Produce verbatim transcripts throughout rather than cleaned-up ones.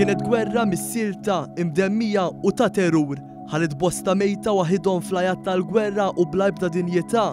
Kienet gwerra mis-silta, imdemmija u ta' terrur. Ħalliet bosta mejta waħidhom fl-għajat tal-gwerra u bla ebda dinjità.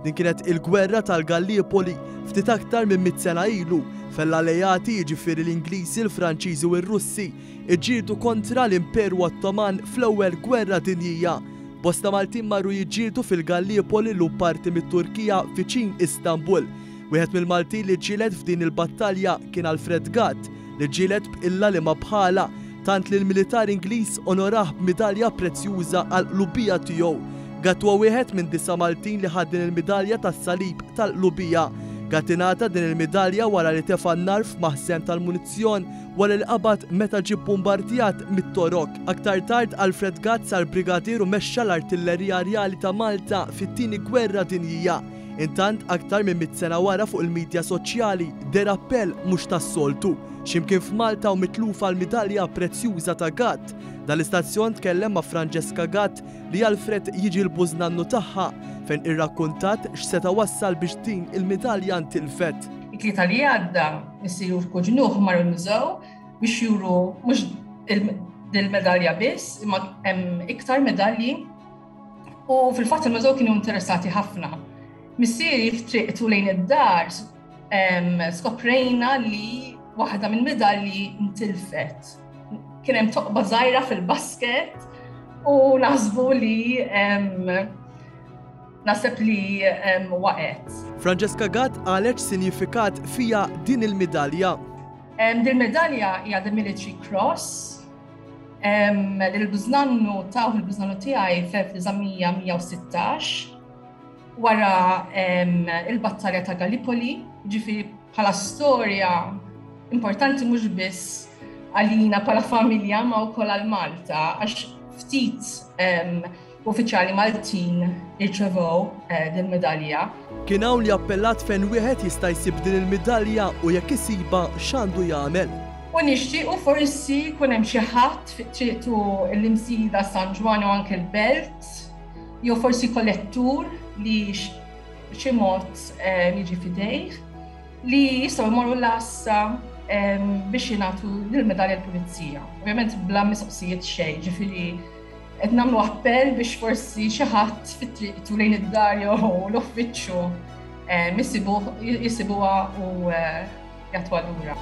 Din kienet il-gwerra tal-Gallipoli ftit aktar minn mitt sena ilu, fejn l-alleati, jiġifieri l-Ingliżi, l-Franċiżi u r-Russi, iġġieldu kontra l-Imperu Ottoman fl-Ewwel Gwerra Dinjija. Bosta Maltin marru jiġġieldu fil-Gallipoli, llum parti mit-Turkija viċin Istanbul. Wieħed mill-Maltin li ġġieled f'din il-battalja kien Alfred Gatt, li ġġieled b'qilla li ma bħala, tant li l-militar Ingliż onorah b'midalja prezzjuża għal qlubija tiegħu. Gatt huwa wieħed minn disa' Maltin li ħad din il-midalja tas-salib tal-qlubija. Gatt ingħata din il-midalja wara li tefa' n-nar f'maħżen tal-munizzjon wara li qabad meta ġie bombardjat mit-Torok. Aktar tard Alfred Gatt sar brigadier u mexxa l-Artillerija Rjali ta' Malta fit-Tieni Gwerra Dinjija. Intant, aktar minn mitt sena wara, fuq il-midja soċjali deher appell mhux tas-soltu. X'imkien f'Malta u mitlufa l-midalja prezzjuża ta' Gatt. Dan l-istazzjon tkellem ma' Francesca Gatt, li Alfred jiġi l-bużnannu tagħha, fejn irrakkuntat x'seta' wassal biex din il-midalja ntilfet. It-Tlieta li għadda missieri u l-kuġnuh marru l-mużew biex juru mhux il-medalja biss, imma hemm iktar medalji, u fil-fatt il-mużew kienu interessati ħafna. Missieri f'triqtu lejn id-dar skoprejna li waħda minn medalji ntilfet. Kien hemm toqba żgħira fil-basket u naħsbu li naħseb li waqgħet. Francesca Gatt qalet x'sinifikat fiha din il-midalja. Din medalja hija the Military Cross. Il-bużnannu tawh il-bużnannu tiegħi fl-elf disa' mija u sittax wara il-battalja ta' Gallipoli, ġifieri bħala storja importanti mhux biss għalina bħala familja ma wkoll għal Malta, għax ftit uffiċjali Maltin irċevew eh, din medalja. Kien hawn li appellat fejn wieħed jista' jsib din il-midalja u jekk isiba x'għandu jagħmel. U nixtiequ forsi jkun hemm xi ħadd fi triqtu l-Imsida, San Ġwann u anke l-Belt, jew forsi kollettur li xi mod eh, jiġi f'idejh li jistgħu jmorru l-għassa biex jingħatu l-medalja l-pulizija. Ovvjament bla mistoqsijiet xejn, ġifieri qed nagħmlu appell biex forsi xi ħadd fit-triqtu lejn id-dar jew l-uffiċċju jisibuha u eh, jagħtuha lura.